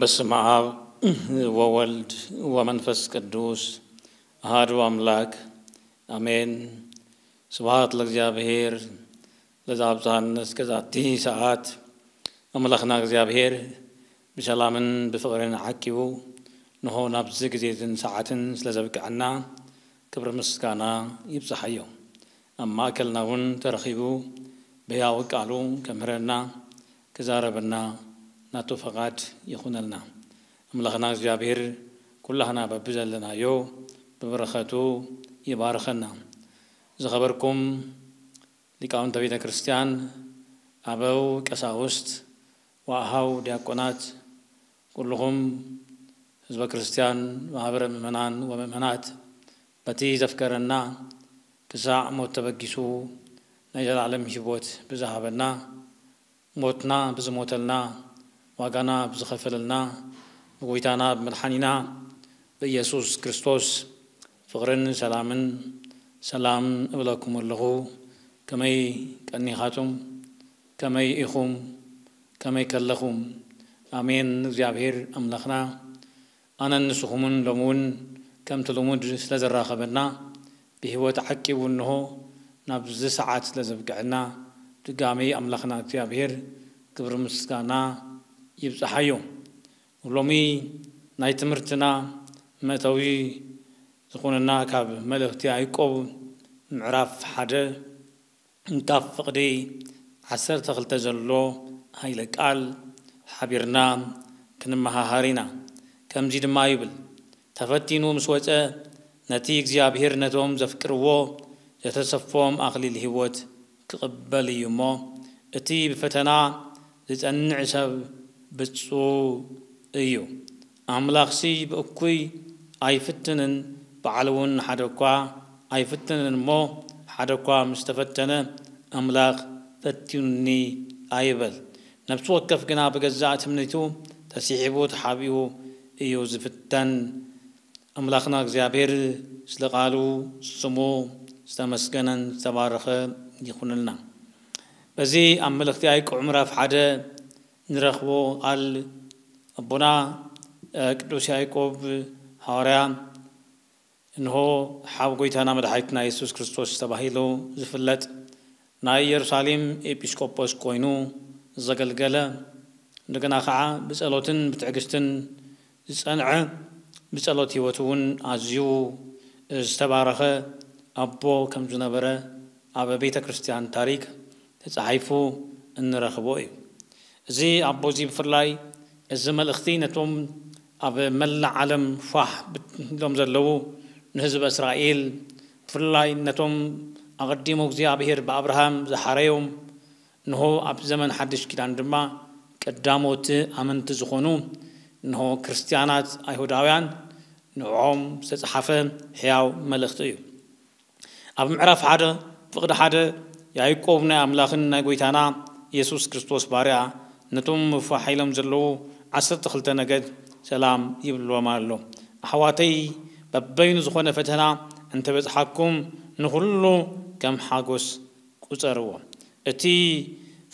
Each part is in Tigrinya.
በስመ አብ ወወልድ ወመንፈስ ቅዱስ አሐዱ አምላክ አሜን። ስብሐት ለእግዚአብሔር ለዘአብጽሐነ እስከ ዛቲ ሰዓት። ኣምላኽና እግዚኣብሔር ብሰላምን ብፍቕርን ዓቂቡ ንሆ ናብዚ ግዜትን ሰዓትን ስለ ዘብቅዐና ክብሪ ምስጋና ይብጽሓዮ። ኣብ ማእከልና እውን ተረኺቡ ብሕያው ቃሉ ከምህረና ክዛረበና ናቱ ፈቓድ ይኹነልና። ኣምላኽና እግዚኣብሔር ኩላህና በብዘለናዮ ብበረኸቱ ይባርኸና። ዝኸበርኩም ሊቃውንተ ቤተ ክርስቲያን፣ ኣበው ቀሳውስት፣ ወኣሃው ዲያቆናት፣ ኩልኹም ህዝበ ክርስቲያን፣ ማህበረ ምእመናን ወምእመናት፣ በቲ ዘፍቀረና ክሳዕ ሞት ተበጊሱ ናይ ዘላለም ህይወት ብዝሃበና፣ ሞትና ብዝሞተልና፣ ዋጋና ብዝኸፈለልና፣ ብጎይታና ብመድሓኒና ብኢየሱስ ክርስቶስ ፍቕርን ሰላምን ሰላም እብለኩም ኣለኹ። ከመይ ቀኒኻቱም? ከመይ ኢኹም? ከመይ ከለኹም? ኣሜን። እግዚኣብሔር ኣምላኽና ኣነን ንስኹምን ሎሚ እውን ከምቲ ልሙድ ስለ ዘራኸበና፣ ብህይወት ዓቂቡ እንሆ ናብዚ ሰዓት ስለ ዘብቅዐና፣ ድጋሚ ኣምላኽና እግዚኣብሔር ክብሪ ምስጋና ይብጽሓዮ። ሎሚ ናይ ትምህርትና መእተዊ ዝኾነና ካብ መልእኽቲ ያዕቆብ ምዕራፍ ሓደ እንካብ ፍቕዲ ዓሰርተ ክልተ ዘሎ ሃይለ ቃል ሓቢርና ክንመሃሃር ኢና። ከምዚ ድማ ይብል፣ ተፈቲኑ ምስ ወጸ ነቲ እግዚኣብሔር ነቶም ዘፍቅርዎ ዘተሰፎም ኣኽሊል ህይወት ክቕበል እዩ እሞ፣ እቲ ብፈተና ዝጸንዕ ሰብ ብጹእ እዩ። ኣምላኽሲ ብእኩይ ኣይፍትንን፣ ባዕሉ እውን ሓደ እኳ ኣይፍትንን እሞ፣ ሓደ እኳ ምስ ተፈተነ፣ ኣምላኽ ፈቲኑኒ ኣይበል። ነፍሲ ወከፍ ግና ብገዛእ ትምኒቱ ተሲሒቡ ተሓቢኡ እዩ ዝፍተን። ኣምላኽና እግዚኣብሔር ስለ ቃሉ ስሙ ዝተመስገነን ዝተባረኸ ይኹንልና። በዚ ኣብ መልእኽቲ ያዕቆብ ምዕራፍ ሓደ ንረኽቦ ቃል ኣቦና፣ እ፣ ቅዱስ ያዕቆብ ሃዋርያ እንሆ ሓው ጎይታና መድሓኒትና የሱስ ክርስቶስ ተባሂሉ ዝፍለጥ ናይ ኢየሩሳሌም ኤጲስቆጶስ ኮይኑ ዘገልገለ፣ እንደገና ከዓ ብጸሎትን ብትዕግስትን ዝጸንዐ፣ ብጸሎት ህይወቱ እውን ኣዝዩ ዝተባረኸ ኣቦ ከም ዝነበረ ኣብ ቤተ ክርስቲያን ታሪክ ተጻሒፉ እንረኽቦ እዩ። እዚ ኣቦ እዚ ብፍላይ እዚ መልእኽቲ ነቶም ኣብ መላእ ዓለም ፋሕ ኢሎም ዘለዉ ንህዝቢ እስራኤል፣ ብፍላይ ነቶም ኣቐዲሙ እግዚኣብሔር ብኣብርሃም ዝሓረዮም፣ እንሆ ኣብ ዘመን ሓድሽ ኪዳን ድማ ቀዳሞት ኣመንቲ ዝኾኑ፣ እንሆ ክርስትያናት ኣይሁዳውያን፣ ንዕኦም ዝተጽሓፈ ሕያው መልእኽቲ እዩ። ኣብ ምዕራፍ ሓደ ፍቕዲ ሓደ ያዕቆብ ናይ ኣምላኽን ናይ ጎይታና የሱስ ክርስቶስ ባርያ ነቶም ፋሕ ኢሎም ዘለዉ ዓሰርተ ክልተ ነገድ ሰላም ይብልዎም ኣሎ። ኣሕዋተይ፣ በበይኑ ዝኾነ ፈተና እንተበጽሓኩም ንኹሉ ከም ሓጎስ ቁጸርዎ። እቲ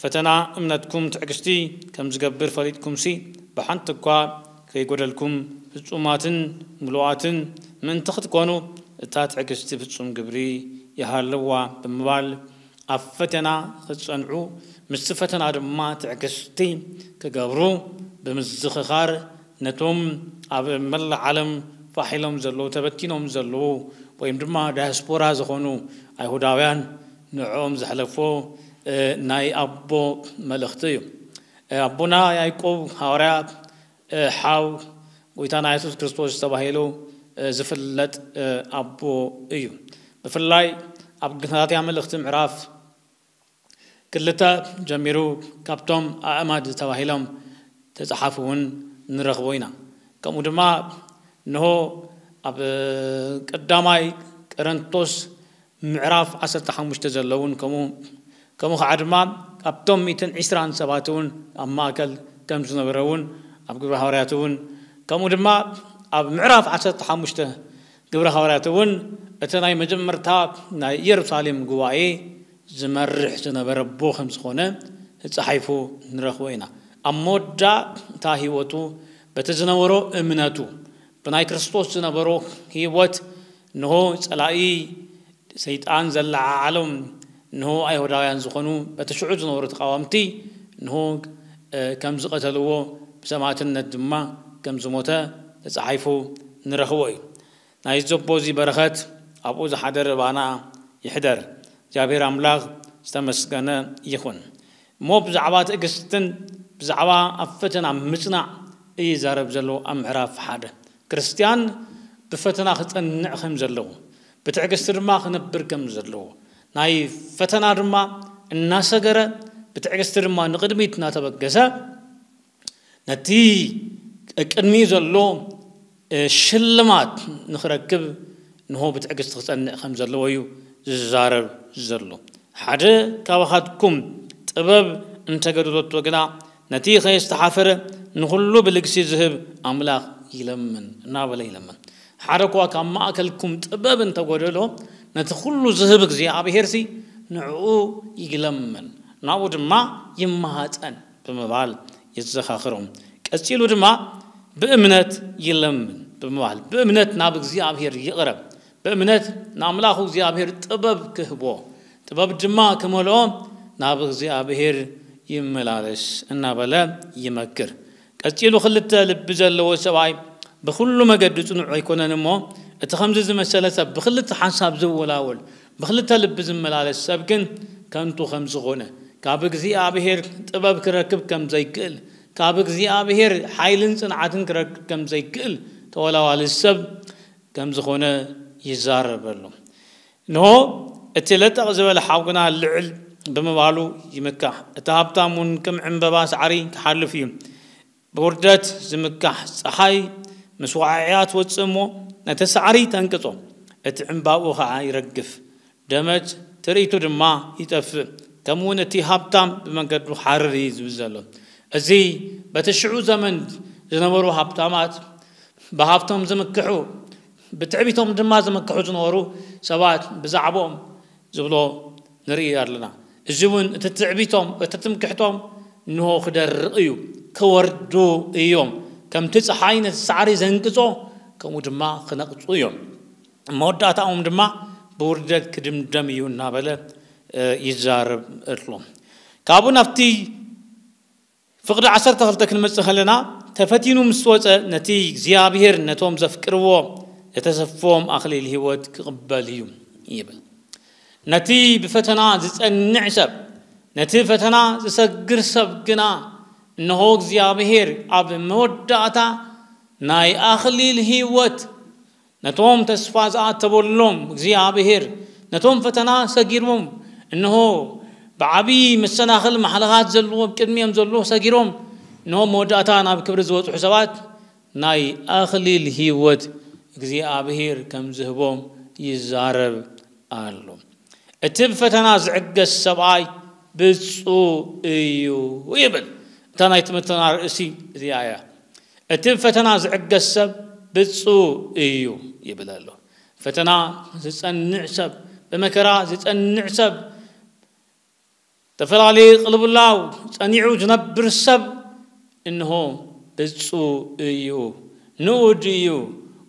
ፈተና እምነትኩም ትዕግስቲ ከም ዝገብር ፈሊጥኩምሲ፣ ብሓንቲ እኳ ከይጎደልኩም ፍጹማትን ምሉኣትን ምእንቲ ክትኮኑ፣ እታ ትዕግስቲ ፍጹም ግብሪ ይሃልዋ ብምባል፣ ኣብ ፈተና ክትጸንዑ፣ ምስቲ ፈተና ድማ ትዕግስቲ ክገብሩ ብምዝኽኻር፣ ነቶም ኣብ መላእ ዓለም ፋሕ ኢሎም ዘለዉ፣ ተበቲኖም ዘለዉ፣ ወይም ድማ ዳያስፖራ ዝኾኑ ኣይሁዳውያን ንዕኦም ዘሕለፎ፣ እ፣ ናይ ኣቦ መልእኽቲ እዩ። እ፣ ኣቦና ያዕቆብ ሃዋርያ፣ እ፣ ሓው ጎይታና የሱስ ክርስቶስ ተባሂሉ፣ እ፣ ዝፍለጥ፣ እ፣ ኣቦ እዩ። ብፍላይ ኣብ ገላትያ መልእኽቲ ምዕራፍ ክልተ ጀሚሩ ካብቶም ኣእማድ ተባሂሎም ተጻሓፉ እውን ንረኽቦ ኢና። ከምኡ ድማ እንሆ ኣብ ቀዳማይ ቀረንቶስ ምዕራፍ ዓሰርተ ሓሙሽተ ዘለውን ከምኡ ከምኡ ከዓ ድማ ኣብቶም ሚእትን ዕስራን ሰባት እውን ኣብ ማእከል ከም ዝነበረ እውን ኣብ ግብረ ሃዋርያት እውን ከምኡ ድማ ኣብ ምዕራፍ ዓሰርተ ሓሙሽተ ግብረ ሃዋርያት እውን እቲ ናይ መጀመርታ ናይ ኢየሩሳሌም ጉባኤ ዝመርሕ ዝነበረ ኣቦ ከም ዝኾነ ተጻሒፉ ንረኽቦ ኢና። ኣብ መወዳእታ ህይወቱ በቲ ዝነበሮ እምነቱ ብናይ ክርስቶስ ዝነበሮ ህይወት ንሆ ጸላኢ ሰይጣን ዘለዓዓሎም ንሆ ኣይሁዳውያን ዝኾኑ በቲ ሽዑ ዝነበሩ ተቃዋምቲ ንሆ ከም ዝቐተልዎ ብሰማዕትነት ድማ ከም ዝሞተ ተጻሒፉ ንረኽቦ እዩ። ናይ ዘቦ እዚ በረኸት ኣብኡ ዝሓደረ ባና ይሕደር። እግዚኣብሔር ኣምላኽ ዝተመስገነ ይኹን። እሞ ብዛዕባ ትዕግስትን ብዛዕባ ኣብ ፈተና ምጽናዕ እዩ ይዛረብ ዘሎ ኣብ ምዕራፍ ሓደ። ክርስትያን ብፈተና ክጸንዕ ከም ዘለዎ ብትዕግስቲ ድማ ክነብር ከም ዘለዎ ናይ ፈተና ድማ እናሰገረ ብትዕግስቲ ድማ ንቕድሚት እናተበገሰ ነቲ ቅድሚኡ ዘሎ ሽልማት ንኽረክብ ንሆ ብትዕግስቲ ክጸንዕ ከም ዘለዎ እዩ ዝዛረብ ዘሎ። ሓደ ካባኻትኩም ጥበብ እንተገደለቶ ግና ነቲ ከየስተሓፈረ ንኹሉ ብልግሲ ዝህብ ኣምላኽ ይለምን እናበለ ይለምን። ሓደ እኳ ካብ ማእከልኩም ጥበብ እንተጎደሎ ነቲ ኩሉ ዝህብ እግዚኣብሄርሲ ንዕኡ ይለምን ናብኡ ድማ ይመሃጸን ብምባል የዘኻኽሮም። ቀጺሉ ድማ ብእምነት ይለምን ብምባል ብእምነት ናብ እግዚኣብሄር ይቕረብ። ብእምነት ንኣምላኹ እግዚኣብሄር ጥበብ ክህቦ ጥበብ ድማ ክመልኦ ናብ እግዚኣብሄር ይመላለስ እናበለ ይመክር። ቀጺሉ ክልተ ልቢ ዘለዎ ሰብኣይ ብኹሉ መገዲ ጽኑዕ ኣይኮነን እሞ እቲ ከምዚ ዝመሰለ ሰብ ብክልተ ሓንሳብ ዝወላወል ብክልተ ልቢ ዝመላለስ ሰብ ግን ከንቱ ከም ዝኾነ ካብ እግዚኣብሔር ጥበብ ክረክብ ከም ዘይክእል ካብ እግዚኣብሔር ሓይልን ጽንዓትን ክረክብ ከም ዘይክእል ተወላዋሊ ሰብ ከም ዝኾነ ይዛረበሉ። እንሆ እቲ ለጠቕ ዝበለ ሓው ግና ልዕል ብምባሉ ይምካሕ። እቲ ሃብታም እውን ከም ዕምበባ ሳዕሪ ክሓልፍ እዩ። ብውርደት ዝምካሕ ጸሓይ ምስ ወዓዒኣ ትወጽእ እሞ ነቲ ሳዕሪ ተንቅጾ፣ እቲ ዕምባብኡ ኸዓ ይረግፍ፣ ደመት ትርኢቱ ድማ ይጠፍእ። ከምኡውን እቲ ሃብታም ብመንገዱ ሓርር እዩ ዝብል ዘሎ። እዚ በቲ ሽዑ ዘመን ዝነበሩ ሃብታማት ብሃብቶም ዝምክሑ ብትዕቢቶም ድማ ዝምክሑ ዝነበሩ ሰባት ብዛዕባኦም ዝብሎ ንርኢ ኣለና። እዚ እውን እቲ ትዕቢቶም እቲ ትምክሕቶም እንሆ ክደርቕ እዩ፣ ክወርዱ እዮም። ከምቲ ፀሓይ ነቲ ሳዕሪ ዘንቅጾ ከምኡ ድማ ክነቕጹ እዮም። መወዳእታኦም ድማ ብውርደት ክድምደም እዩ እናበለ ይዛረብ ኣሎ። ካብኡ ናብቲ ፍቕዲ ዓሰርተ ክልተ ክንመጽእ ከለና ተፈቲኑ ምስ ወጸ ነቲ እግዚኣብሔር ነቶም ዘፍቅርዎ ዘተሰፍዎም ኣኽሊል ህይወት ክቕበል እዩ ይብል። ነቲ ብፈተና ዝጸንዕ ሰብ ነቲ ፈተና ዝሰግር ሰብ ግና እነሆ እግዚኣብሔር ኣብ መወዳእታ ናይ ኣኽሊል ህይወት ነቶም ተስፋ ዝኣተበሎም እግዚኣብሔር ነቶም ፈተና ሰጊሮም እንሆ ብዓብዪ መሰናኽል ማሕለኻት ዘለዎ ቅድሚኦም ዘሎ ሰጊሮም እንሆ መወዳእታ ናብ ክብሪ ዝበፅሑ ሰባት ናይ ኣኽሊል ህይወት እግዚኣብሔር ከም ዝህቦም ይዛረብ ኣሎ። እቲ ብፈተና ዝዕገስ ሰብኣይ ብፁዕ እዩ ይብል። እታ ናይ ትምህርትና ርእሲ እዚኣ እያ። እቲ ብፈተና ዝዕገስ ሰብ ብፁዕ እዩ ይብል ኣሎ። ፈተና ዝጸንዕ ሰብ ብመከራ ዝጸንዕ ሰብ ዝተፈላለየ ቅልብላው ጸኒዑ ዝነብር ሰብ እንሆ ብፁዕ እዩ፣ ንኡድ እዩ፣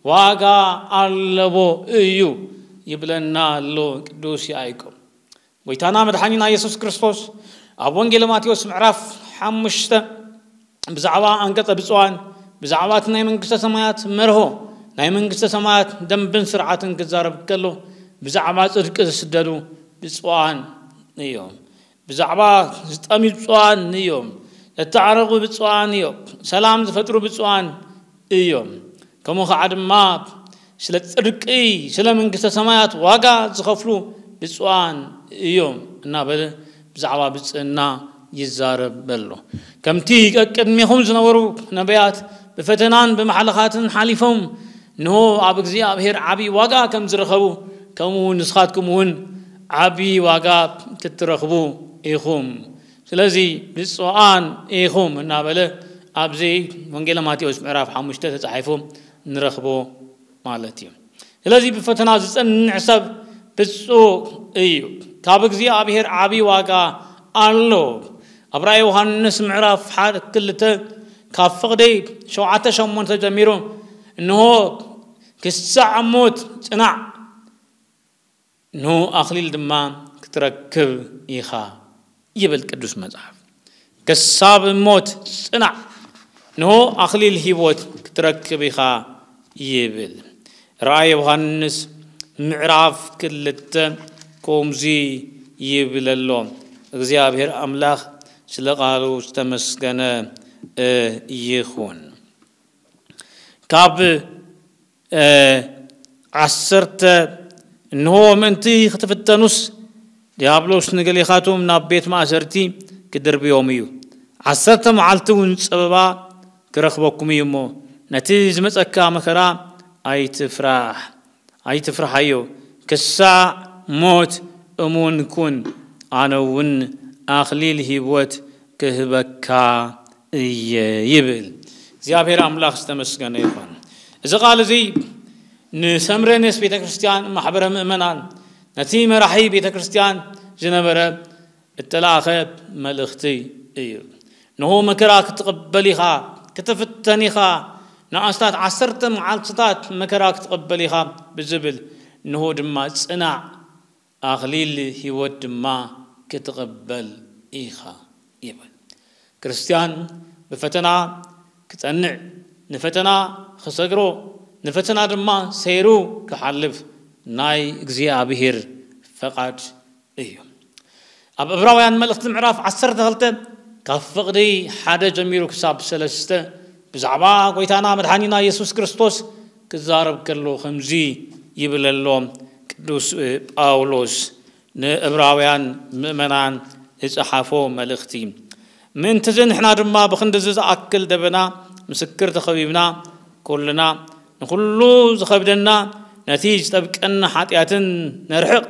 ዋጋ ኣለዎ እዩ ይብለና ኣሎ ቅዱስ ያዕቆብ። ጎይታና መድሓኒና የሱስ ክርስቶስ ኣብ ወንጌል ማቴዎስ ምዕራፍ ሓሙሽተ ብዛዕባ ኣንቀጸ ብፁዓን ብዛዕባ እቲ ናይ መንግስተ ሰማያት መርሆ ናይ መንግስተ ሰማያት ደንብን ስርዓትን ክዛረብ ከሎ ብዛዕባ ጽድቂ ዝስደዱ ብፁዓን እዮም። ብዛዕባ ዝጠምዩ ብፁዓን እዮም። ዘተዓረቑ ብፁዓን እዮም። ሰላም ዝፈጥሩ ብፁዓን እዮም። ከምኡ ከዓ ድማ ስለ ጽድቂ ስለ መንግስተ ሰማያት ዋጋ ዝኸፍሉ ብፁዓን እዮም እናበለ ብዛዕባ ብፅዕና ይዛረብ ኣሎ። ከምቲ ቀቅድሜኹም ዝነበሩ ነቢያት ብፈተናን ብማሕለኻትን ሓሊፎም፣ እንሆ ኣብ እግዚኣብሔር ዓብዪ ዋጋ ከም ዝረኸቡ፣ ከምኡ እውን ንስኻትኩም እውን ዓብዪ ዋጋ ክትረኽቡ ኢኹም። ስለዚ ብፁዓን ኢኹም እናበለ ኣብዚ ወንጌል ማቴዎስ ምዕራፍ ሓሙሽተ ተጻሒፉ ንረኽቦ ማለት እዩ። ስለዚ ብፈተና ዝጸንዕ ሰብ ብፁዕ እዩ፣ ካብ እግዚኣብሔር ዓብዪ ዋጋ ኣሎ። ኣብ ራእይ ዮሃንስ ምዕራፍ ሓደ ክልተ ካብ ፍቕዲ ሸውዓተ ሸሞንተ ጀሚሩ፣ እንሆ ክሳዕ ሞት ጽናዕ፣ እንሆ ኣኽሊል ድማ ክትረክብ ኢኻ ይብል ቅዱስ መጽሓፍ። ክሳብ ሞት ጽናዕ፣ እንሆ ኣኽሊል ህይወት ክትረክብ ኢኻ ይብል። ራእይ ዮሃንስ ምዕራፍ ክልተ ከምዚ ይብል ኣሎ። እግዚኣብሔር ኣምላኽ ስለ ቃሉ ዝተመስገነ ይኹን። ካብ ዓሰርተ፣ እንሆ ምእንቲ ክትፍተኑስ ዲያብሎስ ንገሊኻቱም ናብ ቤት ማእሰርቲ ክድርብዮም እዩ። ዓሰርተ መዓልቲ እውን ጸበባ ክረኽበኩም እዩ እሞ፣ ነቲ ዝመጸካ መከራ ኣይትፍራሕ፣ ኣይትፍርሓዮ። ክሳዕ ሞት እሙን ኩን፣ ኣነ እውን ኣኽሊል ህይወት ክህበካ እየ ይብል። እግዚኣብሔር ኣምላኽ ዝተመስገነ ይኹን። እዚ ቃል እዚ ንሰምረኔስ ቤተ ክርስቲያን፣ ማሕበረ ምእመናን፣ ነቲ መራሒ ቤተ ክርስቲያን ዝነበረ እተላእኸ መልእኽቲ እዩ። እንሆ መከራ ክትቕበል ኢኻ፣ ክትፍተን ኢኻ፣ ንኣስታት ዓሰርተ መዓልትታት መከራ ክትቕበል ኢኻ ብዝብል፣ እንሆ ድማ ጽናዕ፣ ኣኽሊል ህይወት ድማ ክትቕበል ኢኻ ይብል። ክርስትያን ብፈተና ክጸንዕ፣ ንፈተና ክሰግሮ፣ ንፈተና ድማ ሰይሩ ክሓልፍ ናይ እግዚኣብሔር ፈቓድ እዩ። ኣብ ዕብራውያን መልእኽቲ ምዕራፍ ዓሰርተ ክልተ ካብ ፍቕዲ ሓደ ጀሚሩ ክሳብ ሰለስተ ብዛዕባ ጎይታና መድሓኒና የሱስ ክርስቶስ ክዛረብ ከሎ ከምዚ ይብል ኣሎ ቅዱስ ጳውሎስ ንዕብራውያን ምእመናን ዝጸሓፎ መልእኽቲ። ምእንትዚ ንሕና ድማ ብኽንድዚ ዝኣክል ደበና ምስክር ተኸቢብና፣ ኩልና ንኹሉ ዝኸብደና ነቲ ዝጠብቀና ሓጢኣትን ነርሕቕ፣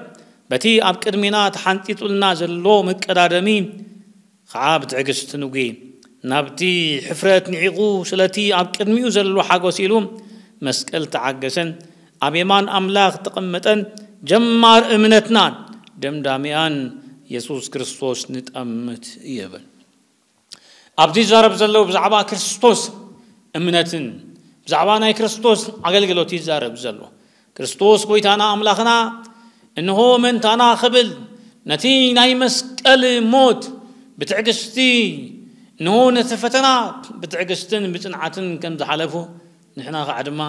በቲ ኣብ ቅድሚና ተሓንጢጡልና ዘሎ መቀዳደሚ ኸዓ ብትዕግስቲ ንጉ። ናብቲ ሕፍረት ንዒቑ ስለቲ ኣብ ቅድሚኡ ዘሎ ሓጎስ ኢሉ መስቀል ተዓገሰን ኣብ የማን ኣምላኽ ተቐመጠን። ጀማር እምነትናን ደምዳሚኣን የሱስ ክርስቶስ ንጠምት ይብል። ኣብዚ ይዛረብ ዘሎ ብዛዕባ ክርስቶስ እምነትን ብዛዕባ ናይ ክርስቶስ ኣገልግሎት ይዛረብ ዘሎ። ክርስቶስ ጎይታና ኣምላኽና እንሆ መእንታና ክብል ነቲ ናይ መስቀል ሞት ብትዕግስቲ፣ እንሆ ነቲ ፈተና ብትዕግስትን ብጽንዓትን ከም ዝሓለፉ፣ ንሕና ኸዓ ድማ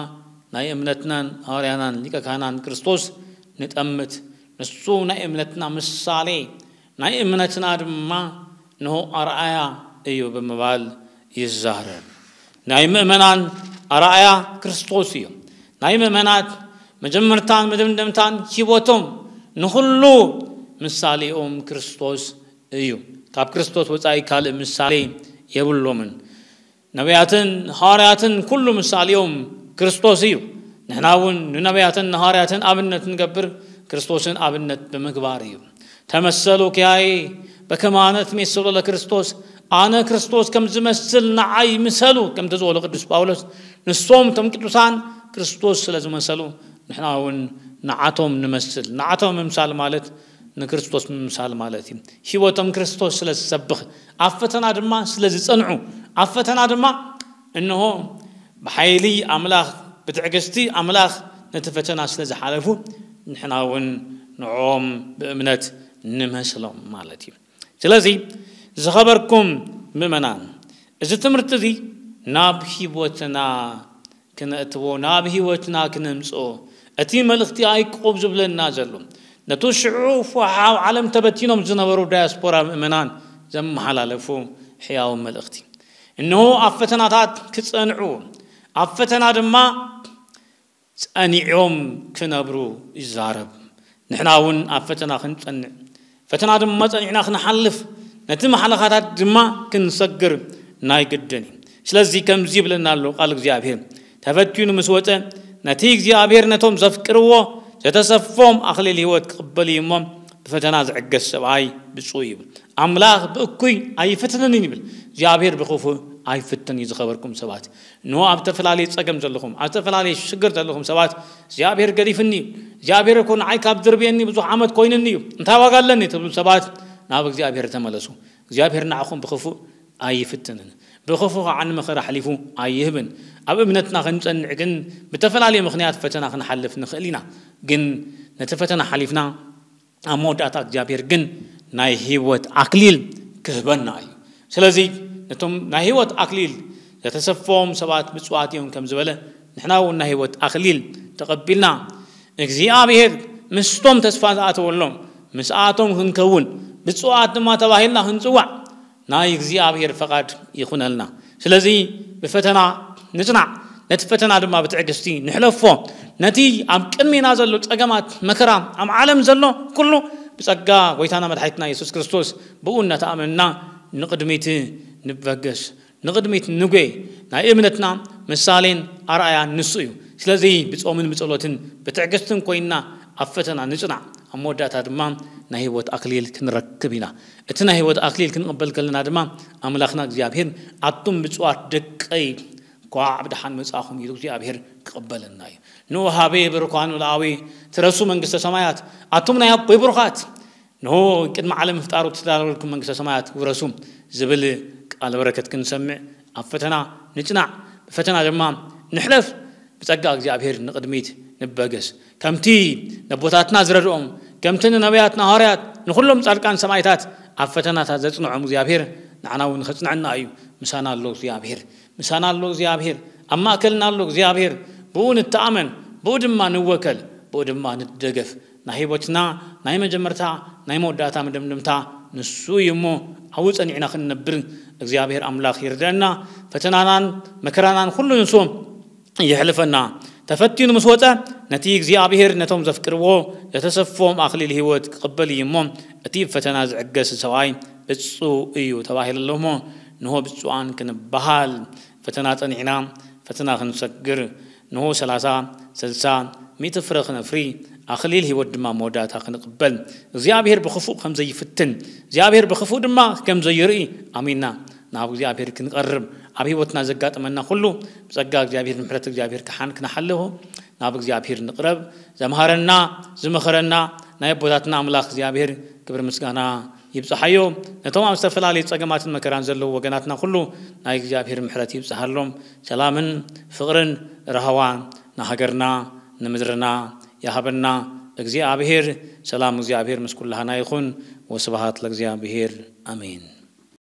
ናይ እምነትናን ሃዋርያናን ሊቀ ካህናን ክርስቶስ ንጠምት። ንሱ ናይ እምነትና ምሳሌ፣ ናይ እምነትና ድማ እንሆ ኣርኣያ እዩ ብምባል ይዛረብ። ናይ ምእመናን ኣርኣያ ክርስቶስ እዩ። ናይ ምእመናት መጀመርታን መደምደምታን ህይወቶም ንኹሉ ምሳሌኦም ክርስቶስ እዩ። ካብ ክርስቶስ ወጻኢ ካልእ ምሳሌ የብሎምን። ነቢያትን ሃዋርያትን ኩሉ ምሳሌኦም ክርስቶስ እዩ። ንሕና እውን ንነቢያትን ንሃዋርያትን ኣብነት ንገብር ክርስቶስን ኣብነት ብምግባር እዩ። ተመሰሉ ኪያዬ በከመ አነ እትሜሰሎ ለክርስቶስ፣ ኣነ ክርስቶስ ከም ዝመስል ንዓይ ምሰሉ ከምቲ ዝበሎ ቅዱስ ጳውሎስ፣ ንሶም እቶም ቅዱሳን ክርስቶስ ስለ ዝመሰሉ ንሕና እውን ንዓቶም ንመስል። ንዓቶም ምምሳል ማለት ንክርስቶስ ምምሳል ማለት እዩ። ህይወቶም ክርስቶስ ስለ ዝሰብኽ፣ ኣብ ፈተና ድማ ስለ ዝጸንዑ፣ ኣብ ፈተና ድማ እንሆ ብሓይሊ ኣምላኽ፣ ብትዕግስቲ ኣምላኽ ነቲ ፈተና ስለ ዝሓለፉ፣ ንሕና እውን ንዕኦም ብእምነት ንመስሎም ማለት እዩ። ስለዚ ዝኸበርኩም ምእመናን፣ እዚ ትምህርቲ እዚ ናብ ህይወትና ክነእትዎ፣ ናብ ህይወትና ክነምጽኦ፣ እቲ መልእኽቲ ያዕቆብ ዝብለና ዘሎ፣ ነቱ ሽዑ ፉሓው ዓለም ተበቲኖም ዝነበሩ ዳያስፖራ ምእመናን ዘመሓላለፉ ሕያው መልእኽቲ። እንሆ ኣብ ፈተናታት ክጸንዑ፣ ኣብ ፈተና ድማ ጸኒዖም ክነብሩ ይዛረብ። ንሕና እውን ኣብ ፈተና ክንጸንዕ፣ ፈተና ድማ ጸኒዕና ክንሓልፍ፣ ነቲ ማሕለኻታት ድማ ክንሰግር ናይ ግድን እዩ። ስለዚ ከምዚ ይብለና ኣሎ ቃል እግዚኣብሔር፣ ተፈትኑ ምስ ወፀ፣ ነቲ እግዚኣብሔር ነቶም ዘፍቅርዎ ዘተሰፎም ኣኽሊል ህይወት ክቕበል እዩ እሞ፣ ብፈተና ዝዕገስ ሰብኣይ ብፁዕ እዩ። ኣምላኽ ብእኩይ ኣይፍትንን ይብል፣ እግዚኣብሔር ብኽፉእ ኣይፍትን እዩ። ዝኸበርኩም ሰባት፣ ንሆ ኣብ ዝተፈላለየ ጸገም ዘለኹም፣ ኣብ ዝተፈላለየ ሽግር ዘለኹም ሰባት፣ እግዚኣብሔር ገዲፍኒ እዩ፣ እግዚኣብሔር እኮ ንዓይ ካብ ድርብየኒ ብዙሕ ዓመት ኮይንኒ እዩ፣ እንታይ ዋጋ ኣለኒ ትብሉ ሰባት፣ ናብ እግዚኣብሔር ተመለሱ። እግዚኣብሔር ንዓኹም ብኽፉእ ኣይፍትንን፣ ብኽፉእ ከዓ ንመኸራ ኣሕሊፉ ኣይህብን። ኣብ እምነትና ክንጸንዕ ግን ብተፈላለየ ምኽንያት ፈተና ክንሓልፍ ንኽእል ኢና። ግን ነቲ ፈተና ሓሊፍና ኣብ መወዳእታ እግዚኣብሔር ግን ናይ ህይወት ኣክሊል ክህበና እዩ። ስለዚ ነቶም ናይ ህይወት ኣክሊል ዘተሰፈዎም ሰባት ብፁዓት እዮም ከም ዝበለ፣ ንሕና እውን ናይ ህይወት ኣክሊል ተቐቢልና እግዚኣብሔር ምስቶም ተስፋ ዝኣተወሎም ምስኣቶም ክንከውን ብፁዓት ድማ ተባሂልና ክንጽዋዕ ናይ እግዚኣብሔር ፈቓድ ይኹነልና። ስለዚ ብፈተና ንጽናዕ፣ ነቲ ፈተና ድማ ብትዕግስቲ ንሕለፎ። ነቲ ኣብ ቅድሜና ዘሎ ጸገማት መከራ ኣብ ዓለም ዘሎ ኩሉ ብጸጋ ጎይታና መድሓኒትና የሱስ ክርስቶስ ብኡ እናተኣመንና ንቕድሚት ንበገስ፣ ንቕድሚት ንጎይ። ናይ እምነትና ምሳሌን ኣርኣያን ንሱ እዩ። ስለዚ ብጾምን ብጸሎትን ብትዕግስትን ኮይንና ኣብ ፈተና ንጽናዕ፣ ኣብ መወዳእታ ድማ ናይ ህይወት ኣክሊል ክንረክብ ኢና። እቲ ናይ ህይወት ኣክሊል ክንቕበል ከለና ድማ ኣምላኽና እግዚኣብሔር ኣቱም ብፁዓት ደቀይ እንኳዕ ብደሓን መጻኹም ኢሉ እግዚኣብሔር ክቕበለና እዩ። ንኡ ሃቤ ብርኳኑ ለኣዊ ትረሱ መንግስተ ሰማያት ኣቱም ናይ ኣቦይ ብሩኻት ንሆ ቅድሚ ዓለም ምፍጣሩ ትዳለወልኩም መንግስተ ሰማያት ውረሱ ዝብል ቃል በረከት ክንሰምዕ ኣብ ፈተና ንጽናዕ፣ ብፈተና ድማ ንሕለፍ። ብጸጋ እግዚኣብሔር ንቕድሚት ንበገስ። ከምቲ ነቦታትና ዝረድኦም፣ ከምቲ ንነቢያት ንሃዋርያት ንኹሎም ጻድቃን ሰማይታት ኣብ ፈተናታት ዘጽንዖም እግዚኣብሔር ንዓና እውን ኸጽንዐና እዩ። ምሳና ኣሎ እግዚኣብሔር፣ ምሳና ኣሎ እግዚኣብሔር፣ ኣብ ማእከልና ኣሎ እግዚኣብሔር። ብኡ ንተኣመን፣ ብኡ ድማ ንወከል፣ ብኡ ድማ ንደገፍ። ናይ ህይወትና ናይ መጀመርታ ናይ መወዳእታ መደምደምታ ንሱ እዩ እሞ ኣብኡ ጸኒዕና ክንነብር እግዚኣብሔር ኣምላኽ ይርድአና። ፈተናናን መከራናን ኩሉ ንሱ የሕልፈና። ተፈቲኑ ምስ ወጸ ነቲ እግዚኣብሔር ነቶም ዘፍቅርዎ ዘተሰፎም ኣኽሊል ህይወት ክቕበል እዩ እሞ እቲ ፈተና ዝዕገስ ሰብኣይ ብፁዕ እዩ ተባሂሉ ኣሎ እሞ ንሆ ብፁዓን ክንበሃል ፈተና ጸኒዕና ፈተና ክንሰግር ንሆ ሰላሳ ስልሳ ሚእቲ ፍረ ክነፍሪ ኣኽሊል ህይወት ድማ መወዳእታ ክንቕበል እግዚኣብሔር ብኽፉእ ከም ዘይፍትን እግዚኣብሔር ብኽፉእ ድማ ከም ዘይርኢ ኣሚንና ናብ እግዚኣብሔር ክንቐርብ ኣብ ህይወትና ዘጋጥመና ኩሉ ብጸጋ እግዚኣብሔር ንምሕረት እግዚኣብሔር ክሓን ክነሓልፎ ናብ እግዚኣብሔር ንቕረብ። ዘምሃረና ዝመኸረና ናይ ኣቦታትና ኣምላኽ እግዚኣብሔር ክብሪ ምስጋና ይብጽሓዮ። ነቶም ኣብ ዝተፈላለዩ ጸገማትን መከራን ዘለዉ ወገናትና ኩሉ ናይ እግዚኣብሔር ምሕረት ይብጽሃሎም። ሰላምን ፍቕርን ራህዋን ንሃገርና ንምድርና ይሃበና እግዚኣብሔር። ሰላም እግዚኣብሔር ምስ ኩላህና ይኹን። ወስብሃት ለእግዚኣብሔር ኣሜን።